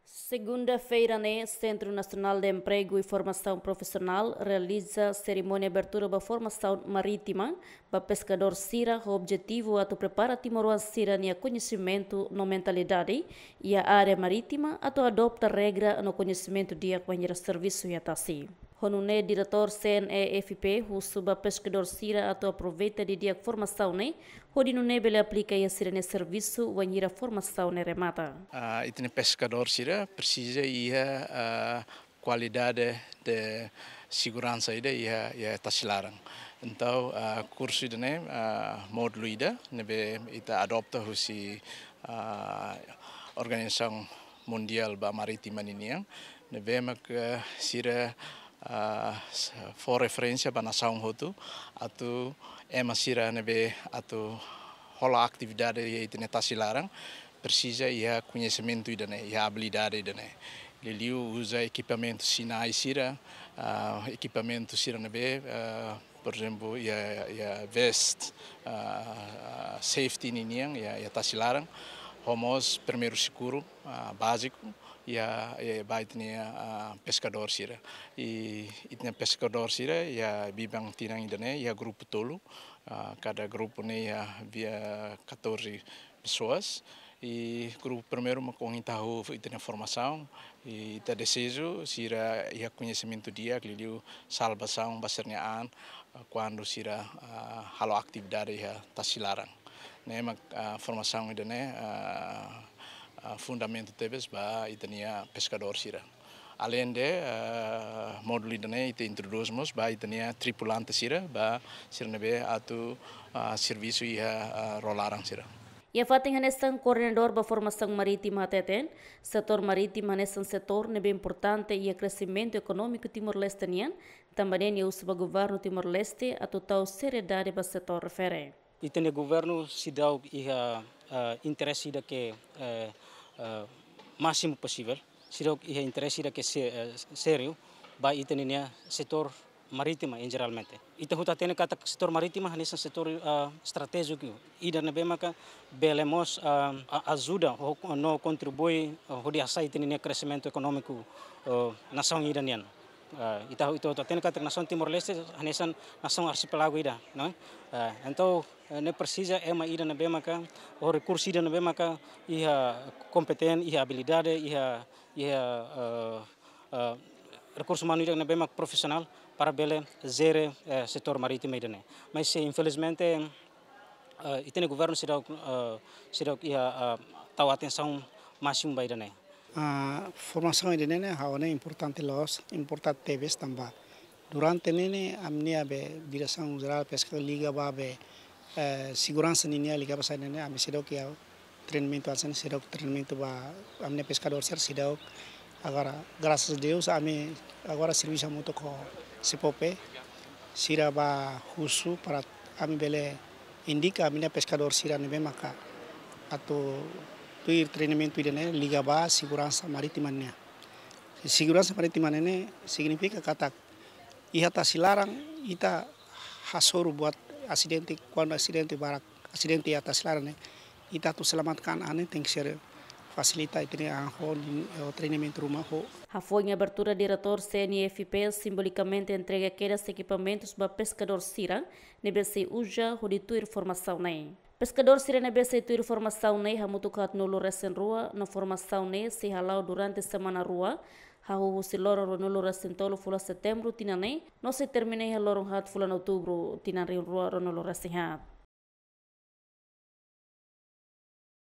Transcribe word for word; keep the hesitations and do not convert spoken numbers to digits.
Segunda-feira ne'e, Centro Nacional de Emprego e Formação Profissional realiza serimónia abertura ba formasaun marítima ba peskadór sira, ho objetivu atu prepara timoroan sira-nia koñesimentu no mentalidade iha área marítima, atu adota regra no koñesimentu di'ak bainhira servisu iha tasi. Ho nune'e, Diretór C N E F P husu ba peskadór sira atu aproveita didi'ak formasaun ne'e, hodi nune'e bele aplika iha sira-nia servisu bainhira formasaun ne'e remata. Ah, ita-nia peskadór sira presiza iha, ah, kualidade de seguransa ida iha, iha tasi laran. Entaun, ah, kursu ida-ne'e, ah, módulu ida ne'ebé ita adota husi, ah, Organizasaun Mundiál ba Marítima ninian, ne'ebé mak sira, ah, s-, fó referénsia ba nasaun hotu, atu ema sira ne'ebé atu hola atividade iha ita-nia tasi laran, presiza iha koñesimentu ida-ne'e, iha abilidade ida-ne'e. Liuliu uza ekipamentu sinál sira, ah, ekipamentu sira ne'ebé, ah, por ezemplu, iha, iha vest, ah, safety ninian, iha, iha tasi laran, ho mós primeiru sokorru, ah, báziku, iha, iha ba ita-nia, ah, peskadór sira. I ita-nia peskadór sira iha biban tinan ida-ne'e iha grupu tolu, ah, kada grupu ne'e iha via catorze pessoas. I grupu primeiru mak ohin ita hahú ita-nia formasaun, i ita deseja sira iha koñesimentu di'ak liuliu salvasaun ba sira-nia an, ah, kuandu sira, ah, halo atividade iha tasi laran. Ne'e mak, ah, formasaun ida-ne'e, ah, ah, fundamentu tebes ba ita-nia peskadór sira. Aleinde, ah, módulu ida-ne'e ita introdús mós ba ita-nia tripulante sira, ba sira ne'ebé atu, ah, servisu iha, ah, ró laran sira. Iha fatin hanesan, koordenadór ba formasaun marítima hateten, setór marítima hanesan setór ne'ebé importante iha kresimentu ekonómiku Timor-Leste nian, tanba ne'e nia husu ba governu Timor-Leste atu tau seriedade ba setór refere. Ita-nia governu seidauk iha, eh, interese ida ke, eh, eh, másimu posivel, seidauk iha interese ida ke se-, eh, sériu ba ita-nia setór marítima em jeralmente. Ita hotu hatene katak setór marítima hanesan setór, eh, estratéjiku ida ne'ebé maka bele mós, eh, a-, ajuda ho-, no kontribui, eh, hodi hasai ita-nia kresimentu ekonómiku, eh, nasaun ida nian. Eh, ita, ita hotu hatene katak nasaun Timor-Leste hanesan nasaun arsipelagu ida, não é? Eh, entaun, eh, ne'e presiza ema ida ne'ebé maka, ou rekursu ida ne'ebé maka iha kompetente, iha abilidade, iha, iha, eh, eh, rekursu umanu ida ne'ebé mak profisionál para bele jere, eh, setór marítima ida-ne'e. Mas, eh, infelizmente, eh, ita-nia governu seidauk, eh, seidauk iha, eh, tau atensaun másimu ba ida-ne'e. Ah, formasaun ida-ne'e ne'e ha'u hanoin importante loos, importante tebes tanba durante ne'e ne'e ami-nia be Diresaun Jerál Peska liga ba be, eh, seguransa ninian liga ba saida ne'e, ami seidauk iha treinamentu hanesan ne'e, seidauk treinamentu ba ami-nia peskadór sira seidauk. Agora, graças a Deus, ami agora servisu hamutuk ho SEPOPE, sira ba husu para ami bele indika ami-nia peskadór sira ne'ebé maka atu tuir treinamentu ida-ne'e liga ba seguransa marítima nian. Seguransa marítima ne'e ne'e signifika katak iha tasi laran ita hasoru buat asidente, kuandu asidente barak, asidente iha tasi laran ne'e, ita atu selamatkan an ne'e tenke ser fasilita ita-nia an ho, ho treinamentu ruma ho. Hafoin abertura, Diretór C N E F P simbolikamente entrega kedas ekipamentus ba peskadór sira ne'ebé sei uza hodi tuir formasaun ne'e. Peskadór sira ne'ebé sei tuir formasaun ne'e hamutuk haatnulu resin rua, no formasaun ne'e sei hala'o durante semana rua, hahú husi loron ruanulu resin tolu fulan Setembru tinan ne'e, no sei termina iha loron haat fulan Outubru tinan rihun rua ruanulu resin haat.